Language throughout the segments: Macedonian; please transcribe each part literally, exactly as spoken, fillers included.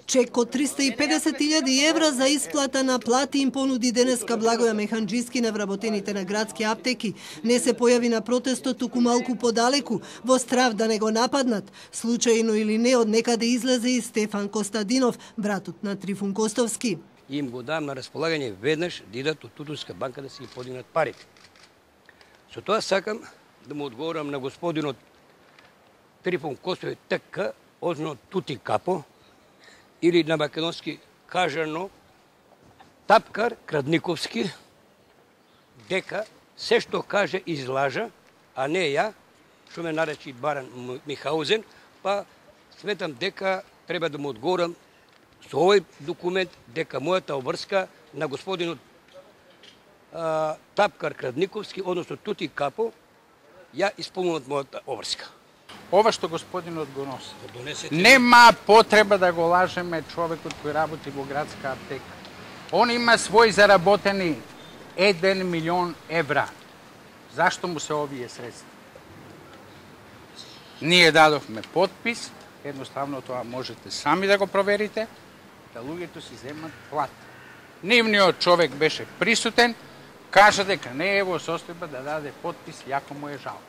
Чек од триста и педесет илјади евра за исплата на плати им понуди денеска Благоја Механџиски на вработените на градски аптеки. Не се појави на протестот, туку малку подалеку, во страв да не го нападнат. Случајно или не, од некаде излезе и Стефан Костадинов, братот на Трифун Костовски. Им го дам на располагање веднаш да идат од Тутунска банка да си ги подигнат парите. Со тоа сакам да му одговорам на господинот Трифун Костовски ТК, озно Тути Капо, или на македонски кажано Тапкар Крадниковски, дека се што каже излажа, а не ја, што ме наречи Баран Михаузен, па сметам дека треба да му одговорам со овој документ дека мојата обврска на господинот а, Тапкар Крадниковски, односно Тути Капо, ја исполнуват мојата обврска. Ова што господинот го носи. Нема потреба да го лажеме човекот кој работи во градска аптека. Он има свој заработени еден милион евра. Зашто му се овие средства? Ние дадовме подпис, едноставно тоа можете сами да го проверите, да луѓето си земат плата. Нивниот човек беше присутен, кажа дека не е во состојба да даде подпис, јако му е жал.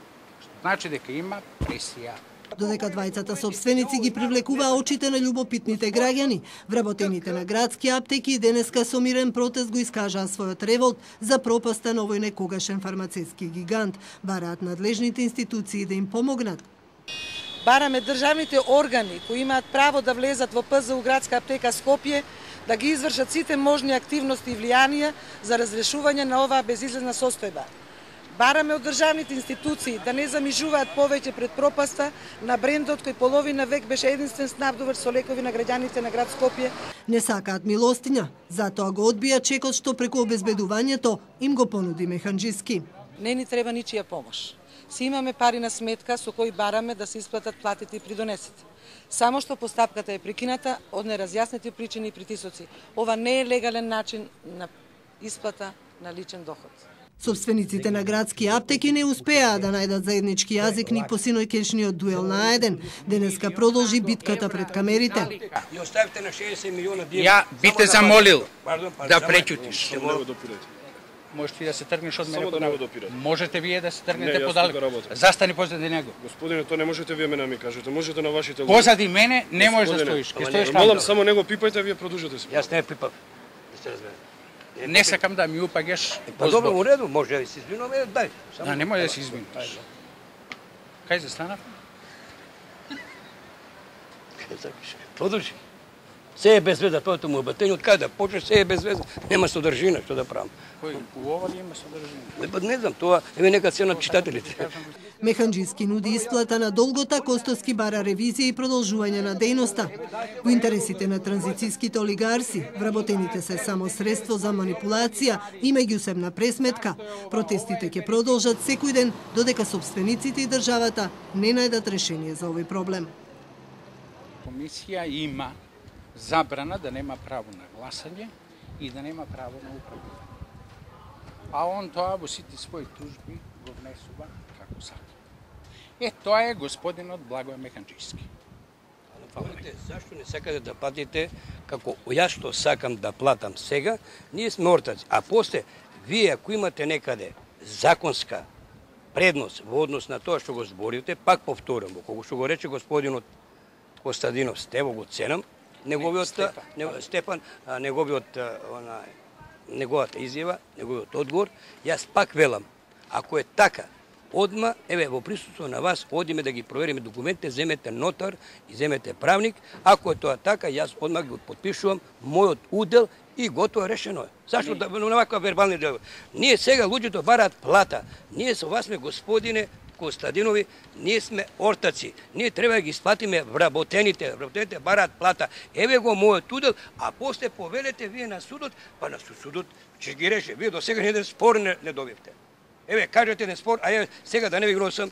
Значи дека има пресија. Додека двајцата собственици ги привлекуваа очите на љубопитните граѓани, вработените на градски аптеки денеска со мирен протест го искажаа својот револт за пропаста на овој некогашен фармацевски гигант. Бараат надлежните институции да им помогнат. Бараме државните органи кои имаат право да влезат во ПЗУ градска аптека Скопје да ги извршат сите можни активности и влијанија за разрешување на оваа безизлезна состојба. Бараме од државните институции да не замижуваат повеќе пред пропаста на брендот кој половина век беше единствен снабдувач со лекови на граѓаните на град Скопје. Не сакаат милостиња, затоа го одбија чекот што преку обезбедувањето им го понуди Механџиски. Не ни треба ничија помош. Си имаме пари на сметка со кои бараме да се исплатат платите и придонесите. Само што постапката е прекината од неразјаснети причини и притисоци. Ова не е легален начин на исплата на личен доход. Собствениците на градски аптеки не успеаа да најдат заеднички јазик ни по синоќешниот дуел на еден. Денеска продолжи битката пред камерите. И оставите на шеесет милиона динара. Ја би те замолил Пардон, пардон, да преќутиш. Можеш ти да се тргнеш од мене подалек. Можете вие да се тргнете подалек. Застани позади него. Господине, тоа не можете вие мене ми кажете. Можете на вашите луѓе. Позади мене не можеш да стоиш. Ке стоиш таму. Молам само него пипајте, вие продолжете се. Јас не пипав. Да се разбере. Не сакам да ми упагеш. Па добро, у реду, може да се извинуваме, дај. Да, не може да се извинуваш. Кај застанав? Продолжи. Се е без веза, тоа му обатење, од каде да почнеш, се е без веза, нема содржина, што да правам. Кој у ова ли има содржина? Не, не знам, тоа еве нека се на читателите. Механџиски нуди исплата на долгота, Костовски бара ревизија и продолжување на дејноста. Во интересите на транзицијските олигарси, вработените се само средство за манипулација и меѓусебна пресметка. Протестите ќе продолжат секој ден, додека собствениците и државата не најдат решение за овој проблем. Комисија има забрана да нема право на гласање и да нема право на управување. А он тоа во сите своји тужби го внесува како сака. Е, тоа е господинот Благоја Механџиски. Зашто не сакате да платите како јас што сакам да платам сега, ние сме ортаци. А после, вие ако имате некаде законска предност во однос на тоа што го зборите, пак повторам, кога што го рече господинот Костадинов, Стево го ценам, неговиот Стефан, не, Стефан неговиот она неговата изјава, неговиот одговор, јас пак велам, ако е така, одма, еве во присуство на вас, одиме да ги провериме документите, земете нотар и земете правник, ако е тоа така, јас одма ги подпишувам мојот удел и готово решено е. Зашто да на ваква вербални дел? Ние сега луѓето бараат плата. Ние со вас сме господине Костадинови, ние сме ортаци. Ние треба да ги исплатиме вработените. Вработените бараат плата. Еве го мојот удел, а после повелете вие на судот, па на судот ќе ги реше. Вие до сега еден спор не, не добивте. Еве, кажете еден спор, а ја сега да не ви гносам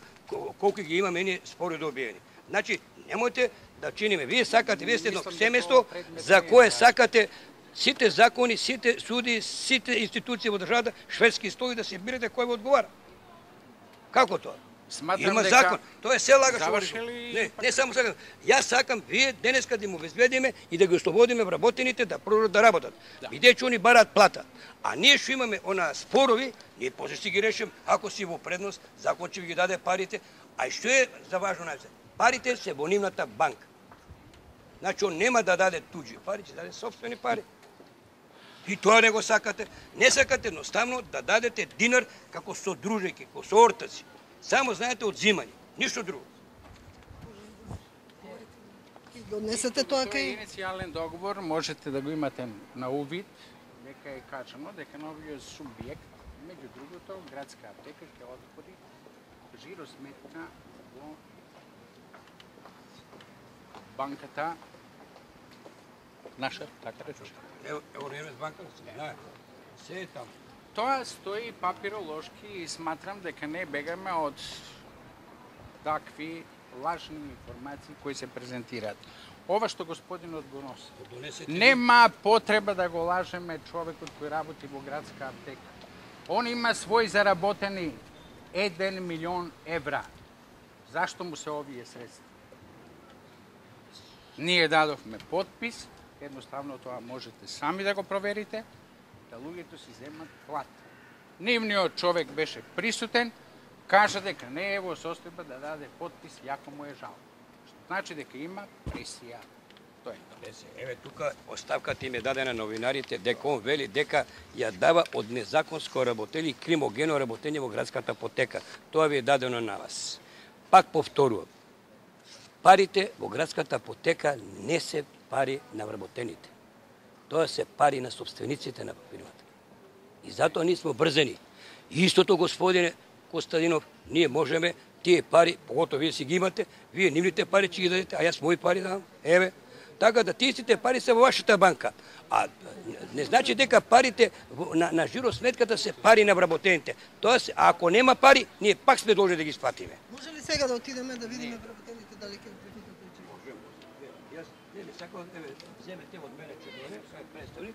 колку ги имаме ние спори добиени. Значи, немојте да чиниме. Вие сакате, вие сте едно семејство за кое сакате сите закони, сите суди, сите институции во државата, шведски стои да се бирате кој ви одговара. Како тоа? Сметам Има дека закон. Тоа е се лагаш. завршили- Не, не само сакам. Јас сакам вие денеска да им обезбедиме и да ги ослободиме вработените да продолжат да работат. Бидејќи они бараат плата. А ние што имаме она спорови, ние после си ги решим, ако си во предност, закон ќе ви ги даде парите. А и што е за важно најсе? Парите се во нивната банка. Значи, он нема да даде туѓи пари, ќе даде собствени пари. И тоа не го сакате. Не сакате едноставно да дадете динар како содружејки, како соортаци. Само знаете одзимање, ништо друго. Донесете тоа Тоа е кај... иницијален договор, можете да го имате на увид, дека е кажано дека новиот субјект, меѓу другото, градска аптека ќе отвори жиросметка во банката наша, така рече. Ево, ево Ремес банка, знаете. Се е таму. Тоа стои папиролошки и сметам дека не бегаме од такви лажни информации кои се презентираат. Ова што господинот го носи. Донесете Нема потреба да го лажеме човекот кој работи во градска аптека. Он има свој заработени еден милион евра. Зашто му се овие средства? Ние дадовме подпис, едноставно тоа можете сами да го проверите, да луѓето си земат плата. Нивниот човек беше присутен, кажа дека не е во состојба да даде подпис, јако му е жал. Што значи дека има пресија. Тоа е тоа. Еве тука оставката им е дадена новинарите дека он вели дека ја дава од незаконско работење и кримогено работење во градската апотека. Тоа ви е дадено на вас. Пак повторувам. Парите во градската апотека не се пари на вработените. Тоа се пари на собствениците на фирмата. И затоа ние сме брзени. И истото, господине Костадинов, ние можеме тие пари, поготово вие си ги имате, вие нивните пари ќе ги дадете, а јас мои пари давам. Еве, така да тие сите пари се во вашата банка. А не значи дека парите на, на жиросметката се пари на вработените. Тоа се, а ако нема пари, ние пак сме должни да ги сплатиме. Може ли сега да отидеме да видиме вработените дали ќе прифатат? Јас не сакам да земете од мене че доне, сега представи,